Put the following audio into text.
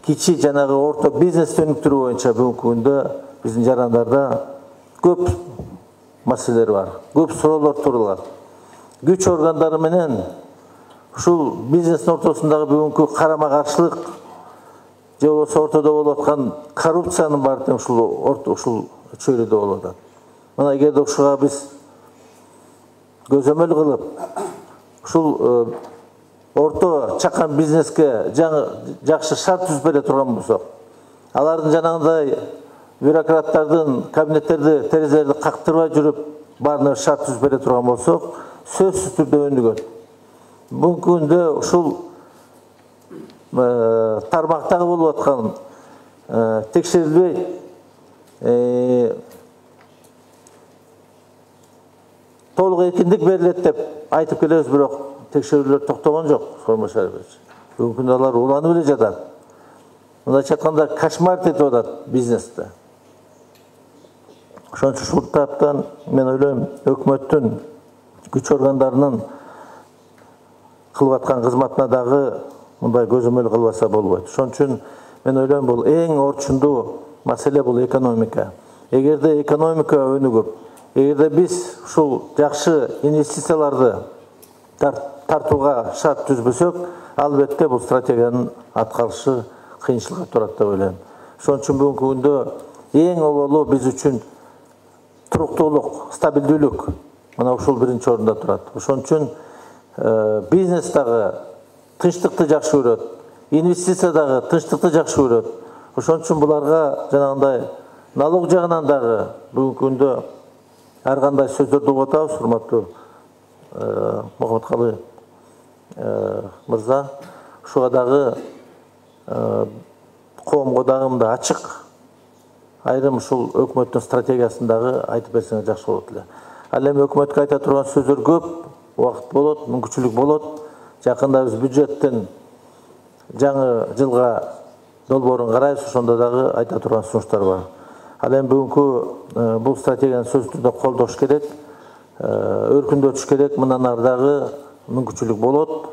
кичи жанагы орто бизнес өнүктүрүү боюнча бүгүнкү күндө биздин жарандарда көп маселелер бар, көп суроолор турулат. Күч органдары менен ушул бизнестин ортосундагы бүгүнкү карама-каршылык же болбосо ортодо болуп аткан коррупциянын баары тең ушул чөйрөдө болуп атат. Мына эгерде ушуга биз көзөмөл кылып, ушул орто чакан бизнеске жакшы шарт түзүп бере турган болсок, алардын жанагындай бюрократтардын кабинеттерди, терезелерди кактырбай жүрүп, баарына шарт түзүп бере турган болсок, сөзсүз түрдө өнүгөт. Бүгүнкү күндө ушул тармактагы болуп аткан текшерилбей толук эркиндик берилет деп айтып келебиз, бирок текшерүүлөр токтогон жок. Бүгүнкү күндө алар уланып эле жатат. Мындайча айтканда кошмар этип атат бизнесте. Ошон үчүн ушул таптан мен ойлойм, өкмөттүн күч органдарынын кылып аткан кызматына дагы мындай көзөмөл кылбаса болбойт. Ошон үчүн мен ойлойм, бул эң орчундуу маселе бул экономика. Эгерде экономика өнүгүп, эгерде биз ушул жакшы инвестицияларды тартууга шарт түзбөсөк, албетте бул стратегиянын аткарышы кыйынчылыкка турат деп ойлойм. Ошон үчүн бүгүнкү күндө эң оболу биз үчүн туруктуулук, стабилдүүлүк, мына ушул биринчи орунда турат. Ошон үчүн бизнес дагы тынчтыкты жакшы көрөт, инвестиция дагы тынчтыкты жакшы көрөт. Ошон үчүн буларга жанагындай налог жагынан дагы бүгүнкү күндө ар кандай сөздөрдү угуп атабыз, урматтуу Мухаммадкалый мырза. Ушуга дагы коомго дагы мындай ачык айрым ушул өкмөттүн стратегиясын дагы айтып берсеңер жакшы болот эле. Ал эми өкмөткө айта турган сөздөр көп, убакыт болот, мүмкүнчүлүк болот. Жакында биз бюджеттин жаңы жылга долбоорун карайбыз, ошондо дагы айта турган сунуштар бар. Ал эми бүгүнкү бул стратегияны сөзсүз түрдө колдош керек, өркүндөтүш керек. Мындан ары дагы мүмкүнчүлүк болот.